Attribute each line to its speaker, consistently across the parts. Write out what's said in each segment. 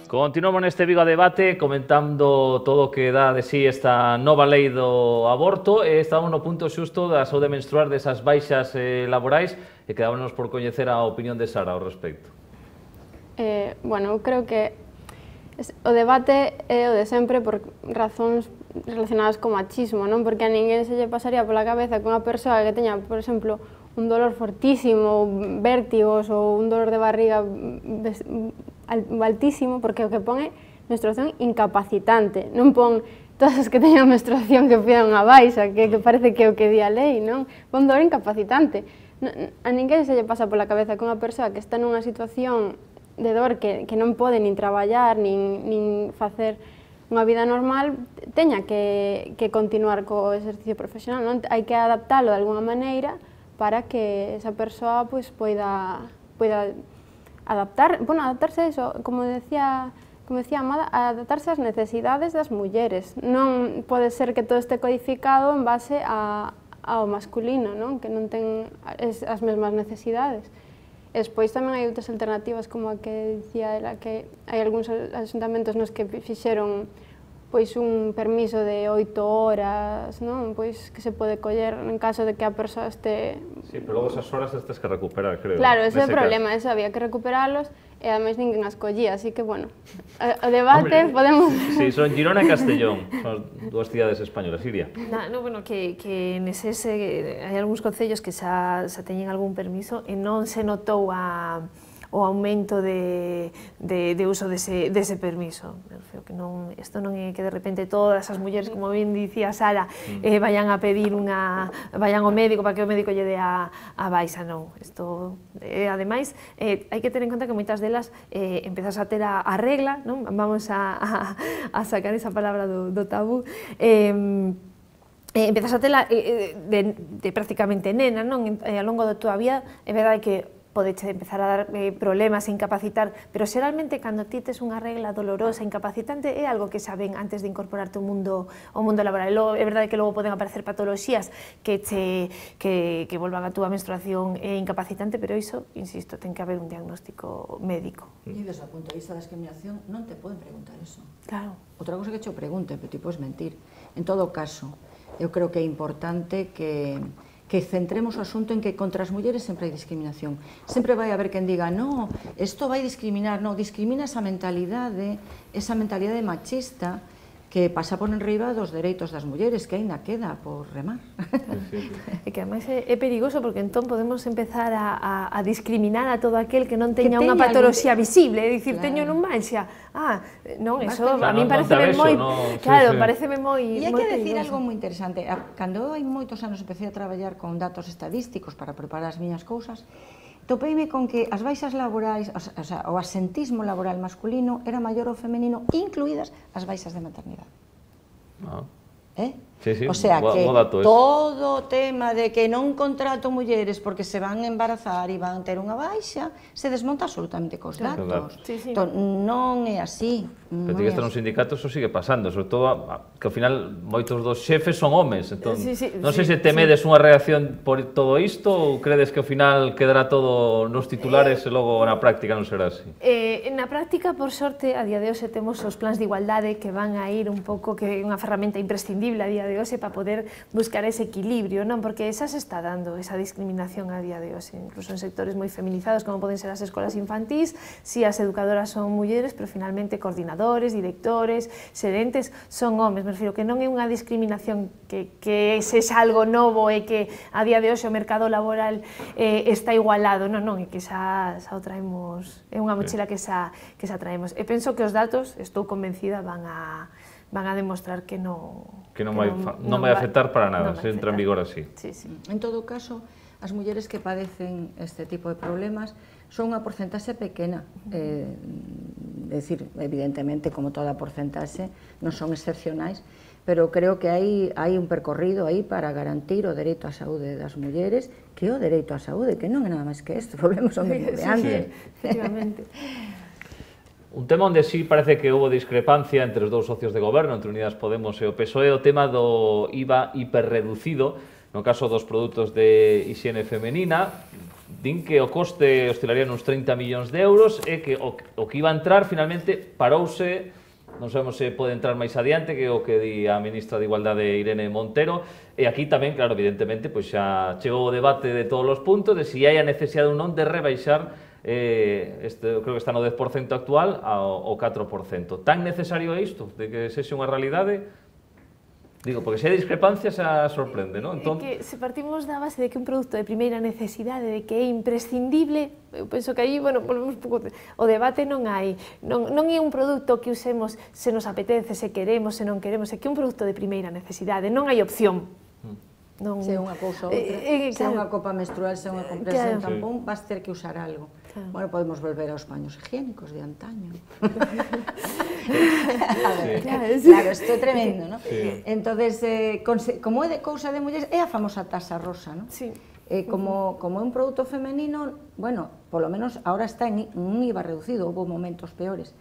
Speaker 1: Continuamos neste Vigo a Debate comentando todo o que dá de sí esta nova lei do aborto e estamos no punto xusto da saúde menstrual desas baixas laborais e quedámonos por coñecer a opinión de Sara ao respecto.
Speaker 2: Bueno, eu creo que o debate é o de sempre por razóns relacionadas co machismo, non? Porque a ninguén se lle pasaría pola cabeza que unha persoa que teña, por exemplo, un dolor fortísimo, vértigos ou un dolor de barriga altísimo, porque o que pon é menstruación incapacitante, non pon todas as que teñan menstruación que pidan unha baixa, que parece que é o que di a lei, non? Pon dolor incapacitante. A ninguén se lle pasa pola cabeza que unha persoa que está nunha situación de dor que non pode nin traballar, nin facer unha vida normal, teña que continuar co exercicio profesional, non? Hai que adaptalo de alguna maneira para que esa persoa poida adaptarse a eso, como decía Amada, adaptarse ás necesidades das mulleres. Non pode ser que todo este codificado en base ao masculino, non? Que non ten as mesmas necesidades. E despois tamén hai outras alternativas, como a que dicía ela, que hai algúns asuntamentos nos que fixeron un permiso de 8 horas, non? Pois que se pode coller en caso de que a persoa este...
Speaker 1: Sí, pero logo esas horas as tens que recuperar, creo.
Speaker 2: Claro, ese é o problema, eso había que recuperalos e ademais ninguén as collía, así que, bueno, o debate podemos...
Speaker 1: Sí, son Girona e Castellón, son dúas cidades españolas. Iria?
Speaker 3: No, bueno, que neses hai algúns concellos que xa teñen algún permiso e non se notou o aumento de uso dese permiso. Isto non é que de repente todas as mulleres, como ben dicía Sara, vayan a pedir vayan ao médico para que o médico lle dé a baixa, non. Isto, ademais, hai que ter en conta que moitas delas empezas a ter a regla, non? Vamos a sacar esa palabra do tabú, empezas a tela de prácticamente nena, non? Ao longo da tua vida, é verdade que podeche empezar a dar problemas e incapacitar, pero xeralmente cando ti tes unha regla dolorosa, incapacitante, é algo que xa ven antes de incorporarte ao mundo laboral. É verdade que logo poden aparecer patoloxías que volvan a túa menstruación incapacitante, pero iso, insisto, ten que haber un diagnóstico médico.
Speaker 4: E desde o punto de vista da discriminación non te poden preguntar eso.
Speaker 3: Claro.
Speaker 4: Outra cosa que te pregunten, pero ti podes mentir. En todo caso, eu creo que é importante que centremos o asunto en que contra as mulleres sempre hai discriminación. Sempre vai haber quen diga, no, isto vai discriminar, no, discrimina esa mentalidade machista que pasa por enriba dos dereitos das mulleres, que aínda queda por remar.
Speaker 3: E que ademais é perigoso porque entón podemos empezar a discriminar a todo aquel que non teña unha patoloxía visible, é dicir, teño non manxa. Non, eso a mí pareceme moi... Claro, pareceme moi...
Speaker 4: E hai que decir algo moi interesante. Cando hai moitos anos empecé a traballar con datos estadísticos para preparar as miñas cousas, topeime con que as baixas laborais, o asentismo laboral masculino era maior ou femenino, incluídas as baixas de maternidade. O sea que todo o tema de que non contrato mulleres porque se van embarazar e van ter unha baixa se desmonta absolutamente cos datos. Non é así.
Speaker 1: Pero que está nos sindicatos eso sigue pasando, sobre todo que ao final moitos dos xefes son homes. Non sei se temedes unha reacción por todo isto ou credes que ao final quedará todo nos titulares e logo na práctica non será así?
Speaker 3: Na práctica, por sorte, a día de hoxe temos os plans de igualdade que van a ir un pouco, que é unha ferramenta imprescindible a día de hoxe para poder buscar ese equilibrio, non? Porque xa se está dando esa discriminación a día de hoxe, incluso en sectores moi feminizados como poden ser as escolas infantís, si as educadoras son mulleres, pero finalmente coordinadores, directores, xerentes son homes. Me refiro que non é unha discriminación que sexa algo novo e que a día de hoxe o mercado laboral está igualado, non, é que xa o traemos, é unha mochila que xa traemos. E penso que os datos, estou convencida, van a demostrar que non
Speaker 1: vai afectar para nada, se entra en vigor así.
Speaker 4: En todo caso, as mulleres que padecen este tipo de problemas son unha porcentaxe pequena. É dicir, evidentemente, como toda porcentaxe, non son excepcionais, pero creo que hai un percorrido aí para garantir o dereito á saúde das mulleres, que é o dereito á saúde, que non é nada máis que isto, volvemos ao mesmo de antes.
Speaker 3: Efectivamente.
Speaker 1: Un tema onde sí parece que houve discrepancia entre os dous socios de goberno, entre Unidas Podemos e o PSOE, o tema do IVA hiperreducido, no caso dos produtos de hixiene femenina. din que o coste oscilaría nos 30 millóns de euros e que o que iba a entrar finalmente parouse, non sabemos se pode entrar máis adiante, que é o que di a ministra de Igualdade Irene Montero, e aquí tamén, claro, evidentemente, pois xa chegou o debate de todos os puntos de se hai a necesidade ou non de rebaixar, creo que está no 10% actual, ao 4%. Tan necesario é isto, de que sexa unha realidade? Digo, porque se hai discrepancia xa sorprende, non?
Speaker 3: É que se partimos da base de que un produto de primeira necesidade, de que é imprescindible, eu penso que aí, bueno, volvemos un pouco, o debate non hai, non é un produto que usemos se nos apetece, se queremos, se non queremos, é que é un produto de primeira necesidade, non hai opción.
Speaker 4: Se é unha cousa ou outra, se é unha copa menstrual, se é unha compresa de tampón, vas ter que usar algo. Bueno, podemos volver aos paños higiénicos de antaño. Claro, isto é tremendo, non? Entonces, como é de cousa de mulleres, é a famosa taxa rosa, non? Como é un produto femenino, bueno, polo menos ahora está en un IVA reducido, houve momentos peores,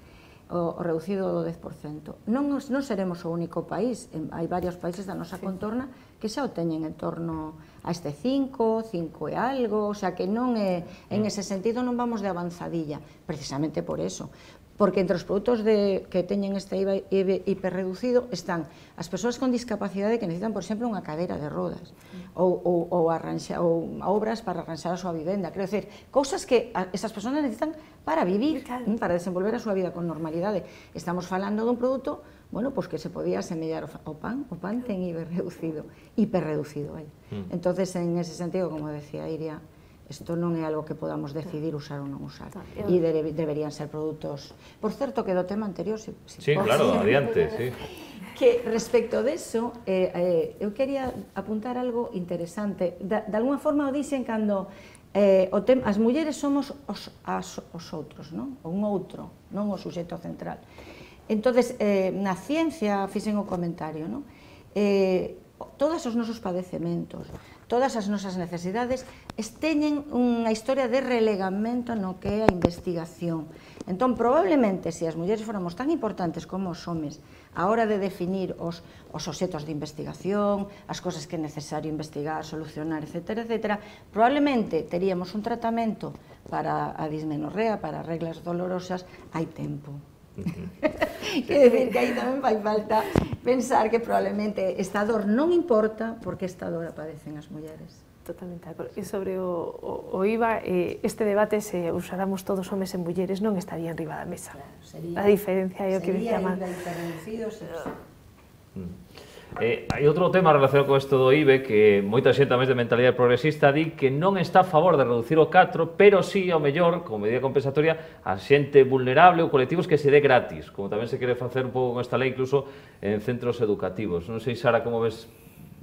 Speaker 4: o reducido do 10%. Non seremos o único país, hai varios países da nosa contorna que xa o teñen en torno a este 5 e algo, o sea que non é, en ese sentido non vamos de avanzadilla, precisamente por eso. Porque entre os produtos que teñen este IVA hiperreducido están as persoas con discapacidade que necesitan, por exemplo, unha cadeira de rodas ou obras para arranxar a súa vivenda. Quero dizer, cousas que esas persoas necesitan para vivir, para desenvolver a súa vida con normalidade. Estamos falando dun produto, bueno, pois que se podía asemellar ao pan. O pan ten IVA reducido, hiperreducido. Entonces, en ese sentido, como decía Iria, isto non é algo que podamos decidir usar ou non usar. E deberían ser produtos... Por certo, que do tema anterior... Sí,
Speaker 1: claro, adiante, sí.
Speaker 4: Que respecto deso, eu quería apuntar algo interesante. De alguna forma o dixen cando as mulleres somos os outros, non? Un outro, non o suxeito central. Entonces, na ciencia, fixen o comentario, non? Todos os nosos padecementos, todas as nosas necesidades teñen unha historia de relegamento no que é a investigación. Entón, probablemente, se as mulleres fóramos tan importantes como os homes a hora de definir os obxetos de investigación, as cosas que é necesario investigar, solucionar, etc., probablemente teríamos un tratamento para a dismenorrea, para reglas dolorosas, hai tempo. Quer decir que aí tamén fai falta pensar que probablemente esta dor non importa porque esta dor padecen as mulleres.
Speaker 3: Totalmente de acordo. E sobre o IVA, este debate, se usáramos todos homes e mulleres, non estaría enriba da mesa. A diferencia é o que dicía mal.
Speaker 4: Sería hiperreducido,
Speaker 1: Hai outro tema relacionado con isto do IVE que moita xente tamén de mentalidade progresista di que non está a favor de reducir o 4, pero sí, ao mellor, como medida compensatoria, a xente vulnerable ou colectivos que se dé gratis, como tamén se quere facer un pouco con esta lei, incluso en centros educativos. Non sei, Sara, como ves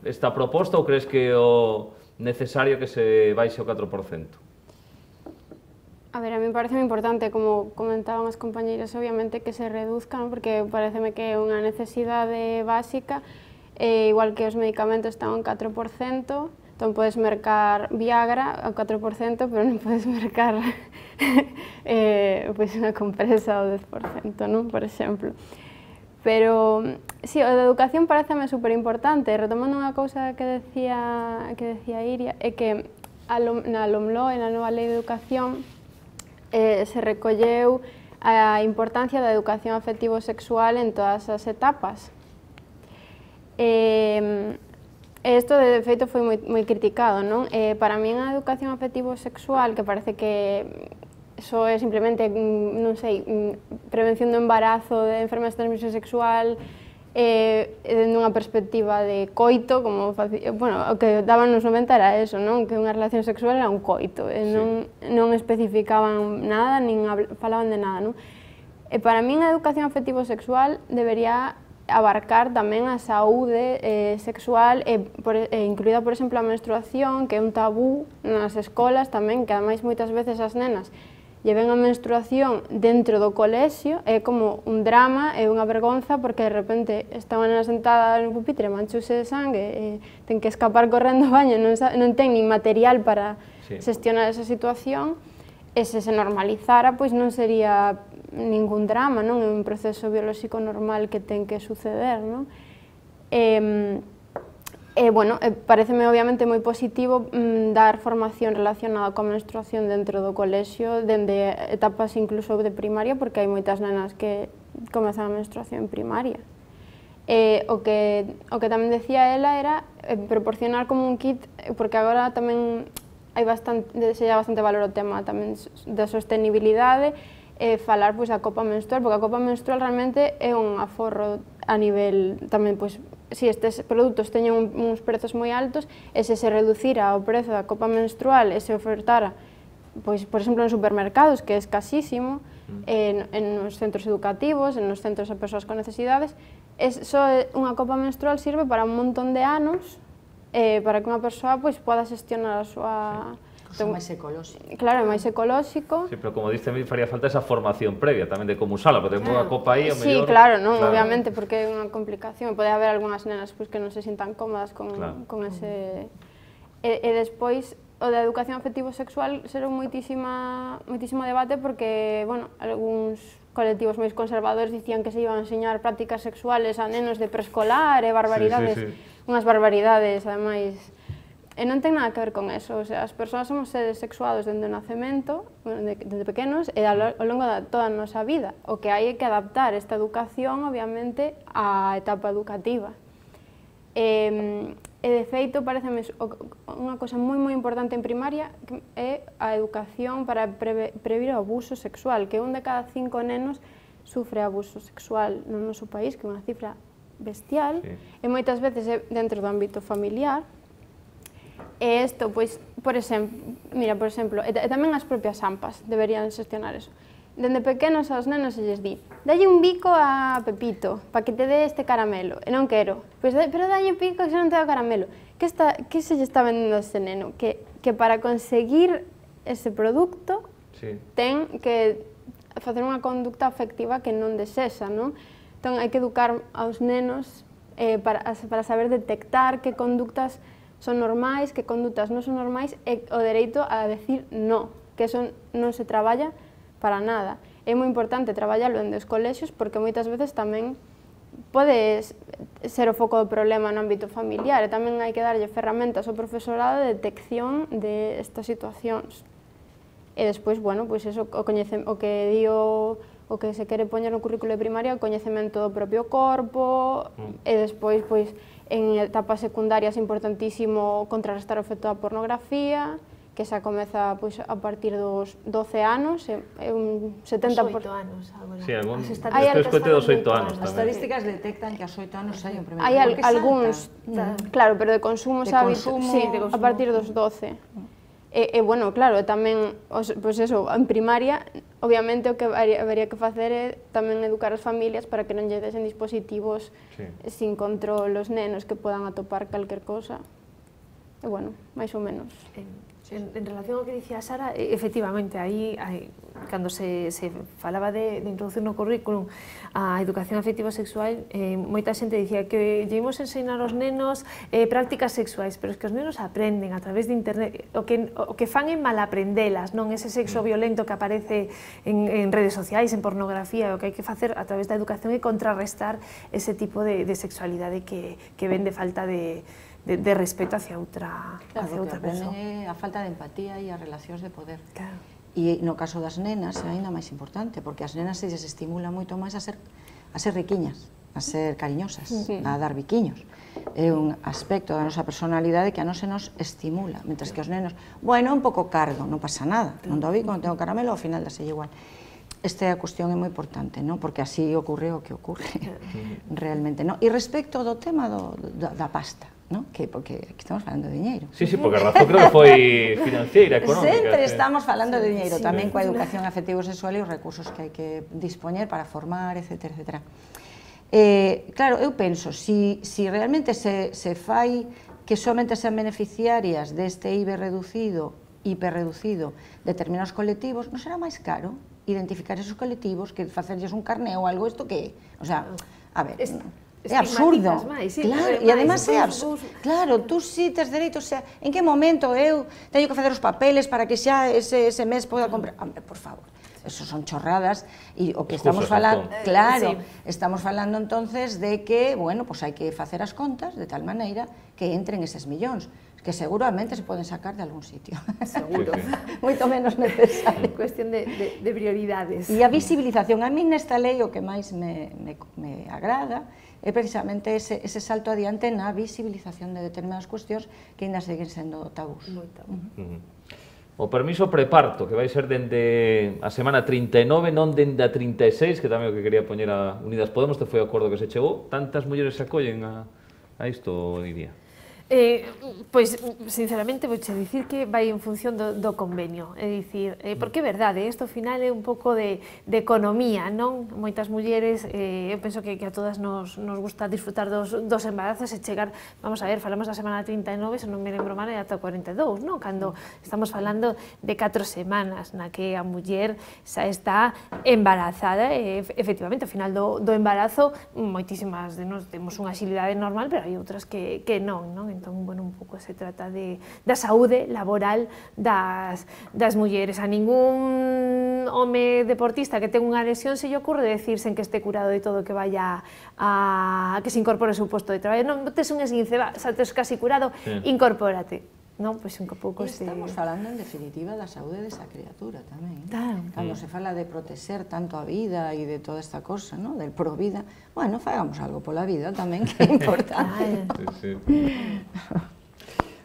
Speaker 1: esta proposta ou crees que é o necesario que se baixe o 4%?
Speaker 2: A ver, a mí me parece moi importante, como comentaban as compañeiras, obviamente que se reduzcan, porque pareceme que é unha necesidade básica, igual que os medicamentos están ao 4%, entón podes mercar Viagra ao 4%, pero non podes mercar unha compresa ao 10%, non? Por exemplo. Pero, sí, a da educación pareceme superimportante. Retomando unha cousa que decía Iria, é que na LOMLOE, na nova Lei de Educación, se recolleu a importancia da educación afectivo-sexual en todas as etapas. Isto, de feito, foi moi criticado, non? Para mí, a educación afectivo-sexual, que parece que só é simplemente, non sei, prevención do embarazo, de enfermedades de transmisión sexual, nunha perspectiva de coito, como, bueno, o que daban nos 90 era eso, non? Que unha relación sexual era un coito, non especificaban nada, nin falaban de nada, non? E para min a educación afectivo-sexual debería abarcar tamén a saúde sexual, incluída, por exemplo, a menstruación, que é un tabú nas escolas tamén, que ademais moitas veces as nenas lleven a menstruación dentro do colexio, é como un drama, é unha vergonza, porque de repente está unha nena sentada no pupitre, manchouse de sangue, ten que escapar correndo ao baño, non ten nin material para xestionar esa situación, e se normalizara, pois non sería ningún drama, non? É un proceso biolóxico normal que ten que suceder, non? Bueno, pareceme obviamente moi positivo dar formación relacionada coa menstruación dentro do colexio, dende etapas incluso de primaria, porque hai moitas nenas que comezan a menstruación en primaria. O que tamén decía ela era proporcionar como un kit, porque agora tamén se lle bastante valor ao tema tamén da sostenibilidade, falar da copa menstrual, porque a copa menstrual realmente é un aforro a nivel tamén, se estes produtos teñen uns prezos moi altos, e se reducira o prezo da copa menstrual e se ofertara, por exemplo, en supermercados, que é escasísimo, nos centros educativos, nos centros de persoas con necesidades, só unha copa menstrual sirve para un montón de anos, para que unha persoa poda xestionar a súa...
Speaker 4: Cosa máis ecolóxico.
Speaker 2: Claro, é máis ecolóxico.
Speaker 1: Sí, pero como diste, me faría falta esa formación previa tamén de como usala, porque ten unha copa aí, o mellor...
Speaker 2: Sí, claro, non, obviamente, porque é unha complicación. Pode haber algunhas nenas que non se sintan cómodas con ese... E despois, o da educación afectivo-sexual será moitísimo debate, porque, bueno, algúns colectivos máis conservadores dicían que se iban a enseñar prácticas sexuales a nenos de preescolar e barbaridades, unhas barbaridades, ademais... E non ten nada que ver con eso, o sea, as persoas somos seres sexuados dende o nacemento, desde pequenos, e ao longo de toda a nosa vida. O que hai é que adaptar esta educación, obviamente, á etapa educativa. E de feito, pareceme unha cosa moi importante en primaria é a educación para previr o abuso sexual, que 1 de cada 5 nenos sufre abuso sexual no noso país, que é unha cifra bestial, e moitas veces é dentro do ámbito familiar. E isto, por exemplo, e tamén as propias AMPAs deberían xestionar eso. Dende pequenos aos nenos se lles di: dalle un bico a Pepito para que te dé este caramelo, e non quero, pero dalle un bico que se non te dá caramelo. Que se lle está vendendo a ese neno? Que para conseguir ese produto ten que facer unha conducta afectiva que non desexa, non? Entón, hai que educar aos nenos para saber detectar que conductas son normais, que condutas non son normais, e o dereito a decir no, que eso non se traballa para nada. É moi importante traballalo en dos colexios, porque moitas veces tamén pode ser o foco do problema no ámbito familiar, e tamén hai que darlle ferramentas ao profesorado de detección de estas situacións. E despois, bueno, eso, o que dio o que se quere poñer no currículo de primaria, o coñecemento do propio corpo, e despois, en etapas secundarias é importantísimo contrarrestar o efecto da pornografía, que xa comeza a partir dos 12 anos, é un 70%...
Speaker 3: Os 8 anos, agora.
Speaker 1: Sí, despois coite dos 8 anos tamén.
Speaker 4: As estadísticas detectan que aos 8 anos hai un primeiro...
Speaker 2: Hai algúns, claro, pero de consumo a partir dos 12. E, bueno, claro, tamén, en primaria, obviamente o que habería que facer é tamén educar as familias para que non lle desen dispositivos sin control os nenos que podan atopar calquer cosa. E, bueno, máis ou menos.
Speaker 3: En relación ao que dicía Sara, efectivamente, aí, cando se falaba de introducir no currículum a educación afectivo-sexual, moita xente dicía que llevamos a ensinar aos nenos prácticas sexuais, pero é que os nenos aprenden a través de internet, o que fan é malaprendelas, non ese sexo violento que aparece en redes sociais, en pornografía, o que hai que facer a través da educación é contrarrestar ese tipo de sexualidade que ven de falta de respeto hacia outra persoa.
Speaker 4: É a falta de empatía e as relacións de poder. E no caso das nenas é ainda máis importante, porque as nenas se lles estimula moito máis a ser riquiñas, a ser cariñosas, a dar biquiños. É un aspecto da nosa personalidade que a non se nos estimula, mentras que os nenos, bueno, un pouco cargo, non pasa nada, non do bico, non tengo caramelo, ao final daselle igual. Esta cuestión é moi importante, porque así ocorre o que ocorre realmente. E respecto do tema da pasta, porque aquí estamos falando de diñeiro.
Speaker 1: Sí, porque a razón creo que foi financiera, económica.
Speaker 4: Sempre estamos falando de diñeiro, tamén coa educación afectivo-sexual e os recursos que hai que dispoñer para formar, etc. Claro, eu penso, se realmente se fai que somente sean beneficiarias deste IBE reducido, hiperreducido, determinados colectivos, non será máis caro identificar esos colectivos que facerlles un carné ou algo, isto que é? O sea, a ver... É absurdo, claro, e además é absurdo. Claro, tú si tes dereito, o sea, en que momento eu teño que facer os papeles para que xa ese mes poda comprar? Por favor, eso son chorradas, e o que estamos falando, claro, estamos falando entonces de que, bueno, pues hai que facer as contas de tal maneira que entren eses millóns, que seguramente se poden sacar de algún sitio.
Speaker 3: Seguro.
Speaker 4: Moito menos necesario.
Speaker 3: Cuestión de prioridades.
Speaker 4: E a visibilización, a mí nesta lei o que máis me agrada é precisamente ese salto adiante na visibilización de determinadas cuestións que ainda seguen sendo tabús.
Speaker 3: Moi tabú.
Speaker 1: O permiso preparto, que vai ser dende a semana 39, non dende a 36, que tamén o que quería poñer a Unidas Podemos, te foi o acordo que se chegou. Tantas mulleres se acollen a isto, Iria?
Speaker 3: Pois, sinceramente, vouche dicir que vai en función do convenio, é dicir, porque é verdade, isto ao final é un pouco de economía, non? Moitas mulleres, eu penso que a todas nos gusta disfrutar dos embarazos e chegar, vamos a ver, falamos da semana 39, se non me lembro mal, é ata 42, non? Cando estamos falando de 4 semanas na que a muller xa está embarazada, e efectivamente, ao final do embarazo, moitísimas de nós temos unha axilidade normal, pero hai outras que non, non? Entón, bueno, un pouco se trata da saúde laboral das mulleres. A ningún home deportista que ten unha lesión se lle ocurre decir sen que este curado de todo que vaya a que se incorpore ao seu posto de traballo. Non tes un esguince, xa tes casi curado, incorpórate. Non, pois un pouco se...
Speaker 4: Estamos falando, en definitiva, da saúde desa criatura tamén.
Speaker 3: Claro.
Speaker 4: Cando se fala de protexer tanto a vida e de toda esta cosa, ¿no? Del pro vida, bueno, fagamos algo pola vida tamén, que é importante.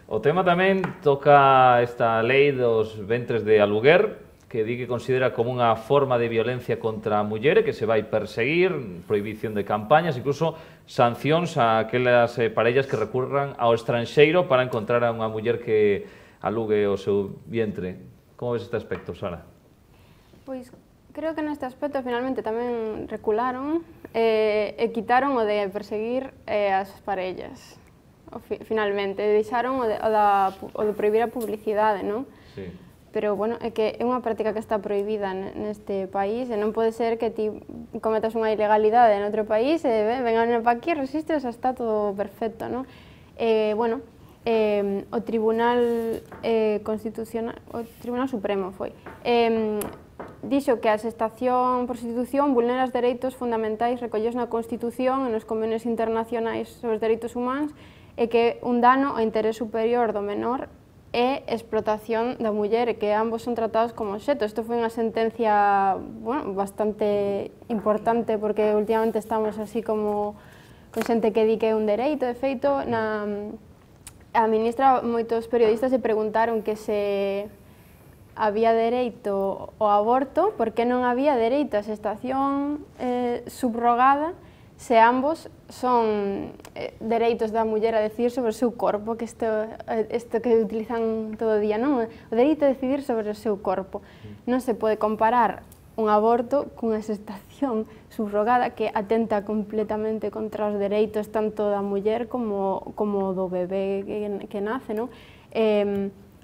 Speaker 1: O tema tamén toca esta lei dos ventres de aluguer, que di que considera como unha forma de violencia contra a muller que se vai perseguir, prohibición de campañas, incluso sancións a aquelas parellas que recurran ao estranxeiro para encontrar a unha muller que alugue o seu vientre. Como ves este aspecto, Sara?
Speaker 2: Pois creo que neste aspecto finalmente tamén recularon e quitaron o de perseguir as parellas. Finalmente, deixaron o de prohibir a publicidade, non?
Speaker 1: Sí.
Speaker 2: Pero, bueno, é que é unha práctica que está prohibida neste país e non pode ser que ti cometas unha ilegalidade en outro país e vengan para aquí, resistes, está todo perfecto, non? Bueno, o Tribunal Constitucional, o Tribunal Supremo foi, dixo que a xestación por prostitución vulnera os dereitos fundamentais recollidos na Constitución e nos convenios internacionais sobre os dereitos humanos e que un dano ao interés superior do menor e explotación da muller e que ambos son tratados como obxeto. Isto foi unha sentencia, bueno, bastante importante porque últimamente estamos así como con xente que di que é un dereito. De feito, a ministra, moitos periodistas se preguntaron que se había dereito ao aborto, por que non había dereito á xestación subrogada se ambos son dereitos da muller a decidir sobre o seu corpo, que isto que utilizan todo o día, non? O dereito a decidir sobre o seu corpo. Non se pode comparar un aborto cunha xestación subrogada que atenta completamente contra os dereitos tanto da muller como do bebé que nace, non?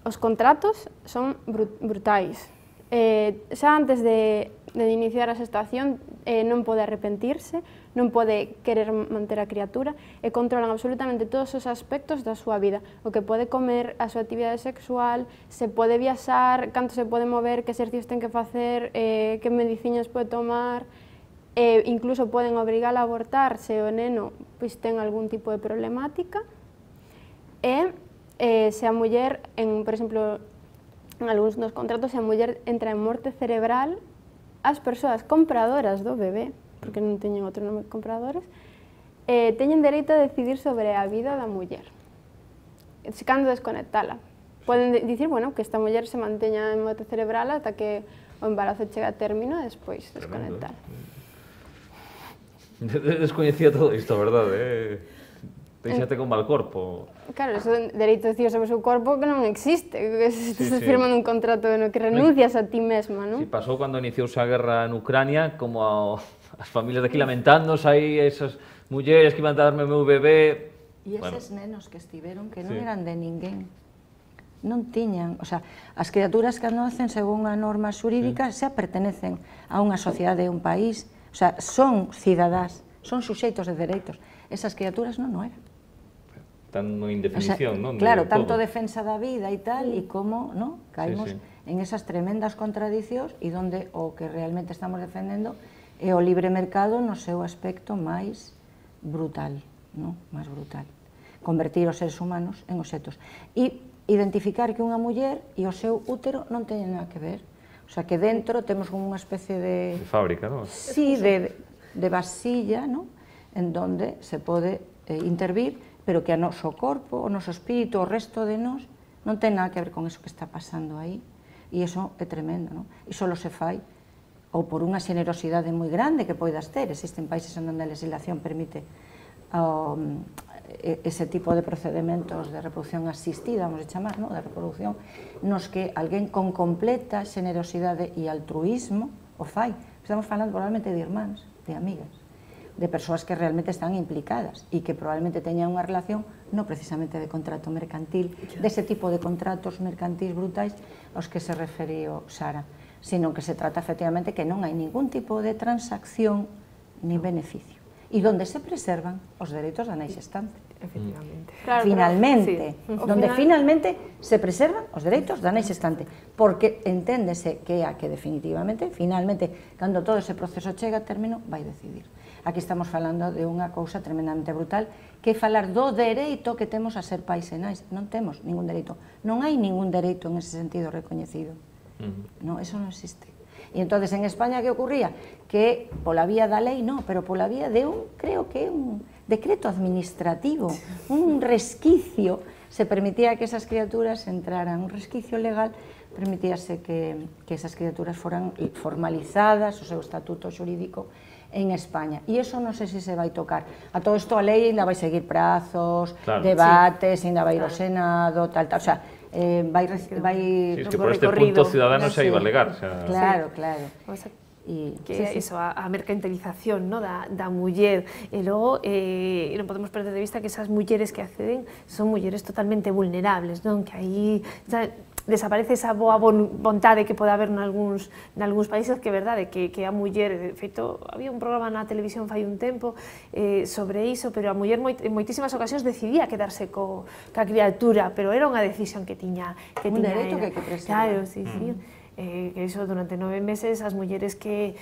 Speaker 2: Os contratos son brutais. Xa antes de iniciar a xestación non pode arrepentirse, non pode querer manter a criatura e controlan absolutamente todos os aspectos da súa vida. O que pode comer, a súa actividade sexual, se pode viaxar, canto se pode mover, que exercicios ten que facer, que medicinas pode tomar, incluso poden obrigar a abortar se o neno pois ten algún tipo de problemática e se a muller, por exemplo, en algúns dos contratos, se a muller entra en morte cerebral, as persoas compradoras do bebé, porque non teñen outro nome que compradores, teñen dereito a decidir sobre a vida da muller, cando desconectala. Poden dicir, bueno, que esta muller se manteña en morte cerebral ata que o embarazo chega a término e despois desconectar.
Speaker 1: Descoñecía todo isto, verdade? Deixate con mal corpo.
Speaker 2: Claro, eso dereito a decidir sobre o seu corpo que non existe, que estás firmando un contrato no que renuncias a ti mesma, non?
Speaker 1: Si pasou cando iniciouse a guerra en Ucrania, como as familias de aquí lamentándose aí, esas mulleres que iban a darme o meu bebé...
Speaker 4: E eses nenos que estiveron, que non eran de ninguén, non tiñan, o sea, as criaturas que nacen según a norma xurídica xa pertenecen a unha sociedade, a un país, o sea, son cidadás, son suxeitos de dereitos. Esas criaturas non eran.
Speaker 1: Tan indefinición, non?
Speaker 4: Claro, tanto defensa da vida e tal, e como, non? Caímos en esas tremendas contradicións e onde o que realmente estamos defendendo é o libre mercado no seu aspecto máis brutal, máis brutal. Convertir os seres humanos en obxetos. E identificar que unha muller e o seu útero non teñen nada que ver. O sea, que dentro temos como unha especie de...
Speaker 1: De fábrica, non?
Speaker 4: Sí, de vasilla, en donde se pode intervir, pero que o noso corpo, o noso espírito, o resto de nós, non ten nada que ver con eso que está pasando aí. E iso é tremendo, e só se fai ou por unha xenerosidade moi grande que poidas ter. Existen países onde a legislación permite ese tipo de procedementos de reproducción asistida, vamos a chamar, de reproducción, nos que alguén con completa xenerosidade e altruísmo o fai. Estamos falando probablemente de irmáns, de amigas, de persoas que realmente están implicadas e que probablemente teñan unha relación non precisamente de contrato mercantil, dese tipo de contratos mercantis brutais aos que se referiu Sara, sino que se trata efectivamente que non hai ningún tipo de transacción ni beneficio e donde se preservan os dereitos da nai xestante.
Speaker 3: Efectivamente.
Speaker 4: Finalmente, donde finalmente se preservan os dereitos da nai xestante, porque enténdese que a que definitivamente, finalmente, cando todo ese proceso chega a término, vai decidir. Aquí estamos falando de unha cousa tremendamente brutal, que é falar do dereito que temos a ser pais e nais. Non temos ningún dereito. Non hai ningún dereito en ese sentido recoñecido. Non, eso non existe. E entonces en España que ocurría? Que pola vía da lei, non, pero pola vía de creo que un decreto administrativo, un resquicio, se permitía que esas criaturas entraran, un resquicio legal, permitíase que esas criaturas foran formalizadas, o seu estatuto xurídico, en España. E iso non sei se se vai tocar. A todo isto a lei ainda vai seguir prazos, debates, ainda vai ir ao Senado, tal. O sea, vai...
Speaker 1: Sí, es que por este punto Ciudadanos xa iba a alegar.
Speaker 4: Claro.
Speaker 3: Que iso, a mercantilización da muller. E logo, non podemos perder de vista que esas mulleres que acceden son mulleres totalmente vulnerables, non? Que aí desaparece esa boa vontade que pode haber nalgúns países, que é verdade, que a muller, de feito, había un programa na televisión fai un tempo sobre iso, pero a muller en moitísimas ocasións decidía quedarse ca criatura, pero era unha decisión que tiña
Speaker 4: un dereito que preservar.
Speaker 3: Claro, sí. Que iso, durante 9 meses, as mulleres que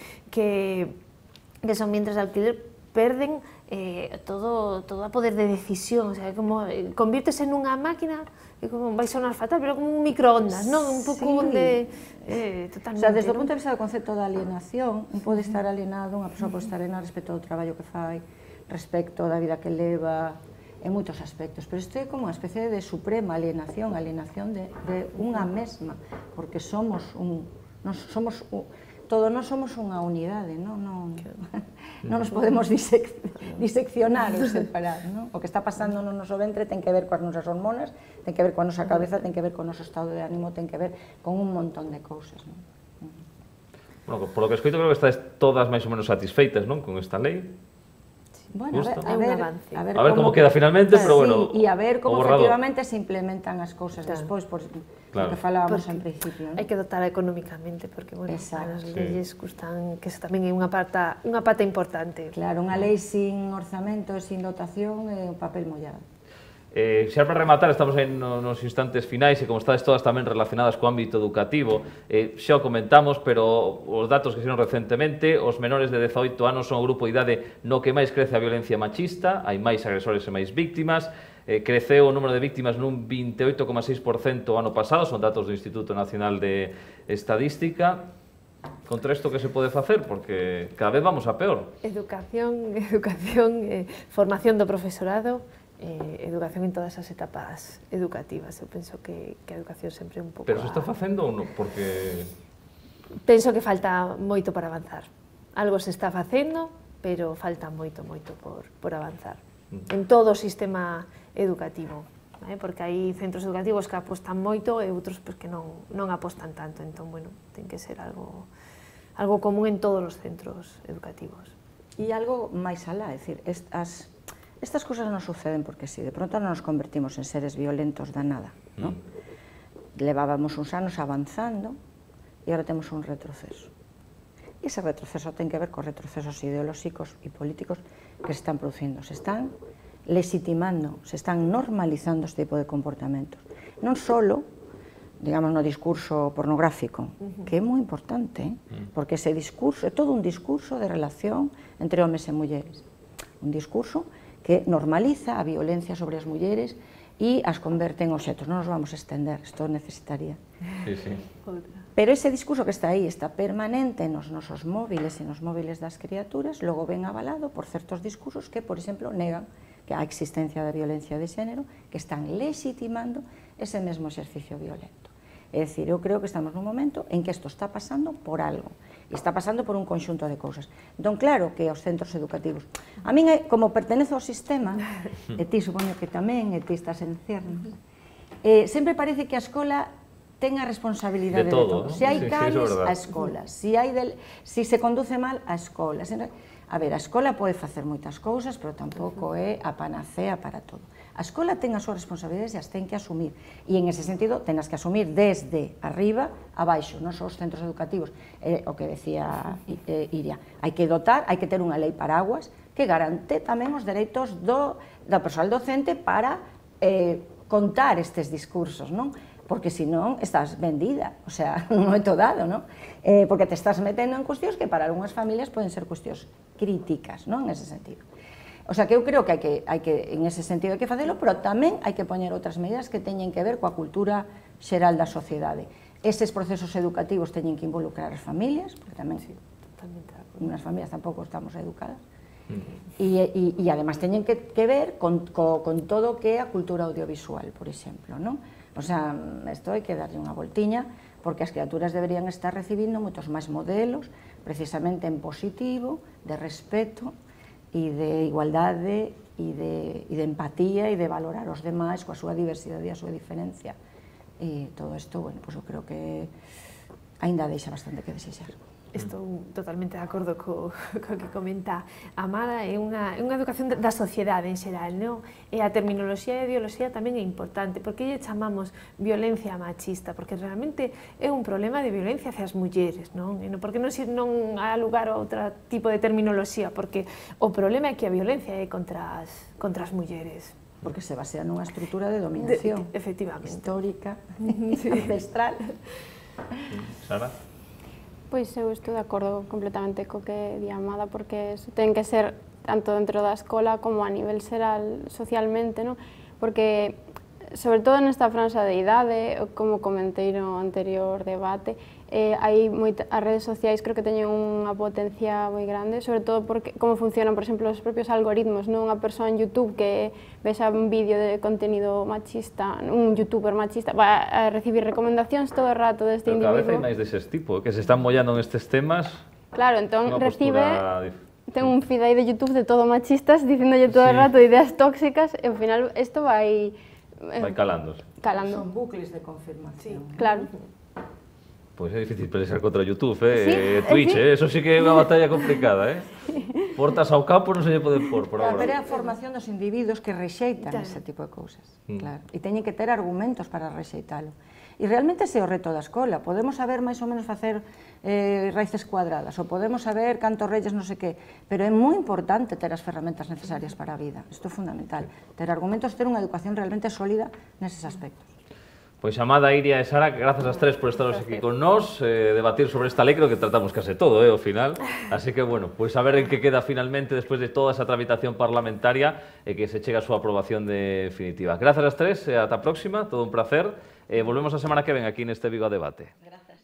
Speaker 3: son vientres de alquiler perden todo a poder de decisión, o sea, como convírtese nunha máquina, e como vai sonar fatal, pero como un microondas, non? Un pouco onde totalmente...
Speaker 4: O sea, desde o punto de vista do concepto da alienación, un pode estar alienado, unha persoa pode estar alienada respecto ao traballo que fai, respecto da vida que leva, en moitos aspectos, pero isto é como unha especie de suprema alienación de unha mesma, porque somos todos nós somos unha unidade, non nos podemos diseccionar ou separar. O que está pasando no noso ventre ten que ver coas nosas hormonas, ten que ver coa nosa cabeza, ten que ver co noso estado de ánimo, ten que ver con un montón de cousas.
Speaker 1: Bueno, por lo que escoito, creo que estáis todas máis ou menos satisfeitas, non, con esta lei.
Speaker 4: Bueno, a
Speaker 1: ver como queda finalmente, pero bueno...
Speaker 4: E a ver como efectivamente se implementan as cousas despois, por que falábamos en principio.
Speaker 3: Hai que dotar económicamente, porque, bueno, as leyes custan, que tamén é unha pata importante.
Speaker 4: Claro, unha lei sin orzamento e sin dotación é un papel mollado.
Speaker 1: Xa para rematar, estamos nos instantes finais e como estades todas tamén relacionadas co ámbito educativo, xa o comentamos, pero os datos que xeron recentemente, os menores de 18 anos son o grupo de idade no que máis crece a violencia machista, hai máis agresores e máis víctimas, creceu o número de víctimas nun 28,6% o ano pasado, son datos do Instituto Nacional de Estadística. Contra isto que se pode facer? Porque cada vez vamos a peor.
Speaker 3: Educación, formación do profesorado, educación en todas as etapas educativas. Eu penso que a educación sempre é un pouco...
Speaker 1: Pero se está facendo ou non? Porque...
Speaker 3: Penso que falta moito para avanzar. Algo se está facendo, pero falta moito por avanzar. En todo o sistema educativo. Porque hai centros educativos que apostan moito e outros que non apostan tanto. Entón, bueno, ten que ser algo común en todos os centros educativos.
Speaker 4: E algo máis alá, é dicir, estas cousas non suceden porque si, de pronto non nos convertimos en seres violentos da nada, non? Levábamos uns anos avanzando e agora temos un retroceso. E ese retroceso ten que ver cos retrocesos ideolóxicos e políticos que se están producindo. Se están legitimando, se están normalizando este tipo de comportamentos. Non só digamos, no discurso pornográfico, que é moi importante, porque ese discurso é todo un discurso de relación entre homes e mulleres. Un discurso que normaliza a violencia sobre as mulleres e as converte en obxetos. Non nos vamos a estender, isto necesitaría.
Speaker 1: Sí, sí.
Speaker 4: Pero ese discurso que está aí, está permanente nos nosos móviles e nos móviles das criaturas, logo ven avalado por certos discursos que, por exemplo, negan que a existencia da violencia de xénero, que están legitimando ese mesmo exercicio violento. É dicir, eu creo que estamos nun momento en que isto está pasando por algo, e está pasando por un conxunto de cousas. Entón, claro que os centros educativos, a min, como pertenezo ao sistema, e ti supoño que tamén, e ti estás en ciernos, sempre parece que a escola ten a responsabilidade de todo. Se hai cales, a escola. Se se conduce mal, a escola. A ver, a escola pode facer moitas cousas, pero tampouco é a panacea para todo. A escola ten as súas responsabilidades e as ten que asumir. E en ese sentido, tenas que asumir desde arriba a baixo, non só os centros educativos. O que decía Iria, hai que dotar, hai que ter unha lei paraguas que garante tamén os dereitos do persoal docente para contar estes discursos, non? Porque senón estás vendida, o sea, non é todo dado, non? Porque te estás metendo en cuestións que para algunhas familias poden ser cuestións críticas, non? En ese sentido. O sea, que eu creo que hai que, en ese sentido, hai que facelo, pero tamén hai que poñer outras medidas que teñen que ver coa cultura xeral da sociedade. Eses procesos educativos teñen que involucrar as familias, porque tamén, unhas familias tampouco estamos educadas, e además teñen que ver con todo o que é a cultura audiovisual, por exemplo, non? O sea, isto hai que darlle unha voltiña, porque as criaturas deberían estar recibindo moitos máis modelos, precisamente en positivo, de respeto, e de igualdade, e de empatía, e de valorar os demais coa súa diversidade e a súa diferencia. E todo isto, bueno, pois eu creo que aínda deixa bastante que desexar.
Speaker 3: Estou totalmente de acordo co que comenta Amada, é unha educación da sociedade en xeral, non? E a terminoloxía e a ideoloxía tamén é importante, porque lle chamamos violencia machista, porque realmente é un problema de violencia hacia as mulleres, non? E porque non há lugar a outro tipo de terminoloxía, porque o problema é que a violencia é contra as mulleres.
Speaker 4: Porque se basea nunha estrutura de dominación histórica, ancestral.
Speaker 1: Sara?
Speaker 2: Pois eu estou de acordo completamente co que di Amada, porque ten que ser tanto dentro da escola como a nivel xeral socialmente, non? Porque, sobre todo nesta franxa de idade, como comentei no anterior debate, as redes sociais creo que teñen unha potencia moi grande, sobre todo porque como funcionan, por exemplo, os propios algoritmos, non? Unha persoa en YouTube que vexa un vídeo de contenido machista, un youtuber machista, va a recibir recomendacións todo o rato deste individuo.
Speaker 1: Pero cada vez hai máis deses tipo, que se están mollando en estes temas.
Speaker 2: Claro, entón recibe, ten un feed aí de YouTube de todo machistas, dicindolle todo o rato ideas tóxicas, e ao final isto vai
Speaker 1: calándose.
Speaker 4: Son bucles de confirmación.
Speaker 2: Claro.
Speaker 1: Pois é difícil pelear contra YouTube, Twitch, eso sí que é unha batalla complicada, Portas ao campo non se lle pode por agora.
Speaker 4: Pero é a formación dos individuos que rexeitan ese tipo de cousas, claro. E teñen que ter argumentos para rexeitalo. E realmente ese é o reto da escola. Podemos saber máis ou menos facer raíces cuadradas, ou podemos saber cantos reyes non sei que, pero é moi importante ter as ferramentas necesarias para a vida. Isto é fundamental. Ter argumentos, ter unha educación realmente sólida neses aspectos.
Speaker 1: Pois Amada, Iria e Sara, grazas ás tres por estaros aquí con nós, debatir sobre esta lei, creo que tratamos case todo, ao final. Así que, bueno, pois a ver en que queda finalmente despois de toda esa tramitación parlamentaria e que se chega a súa aprobación definitiva. Grazas ás tres, e ata a próxima, todo un placer. Volvemos a semana que ven aquí neste Vigo a Debate.
Speaker 4: Grazas.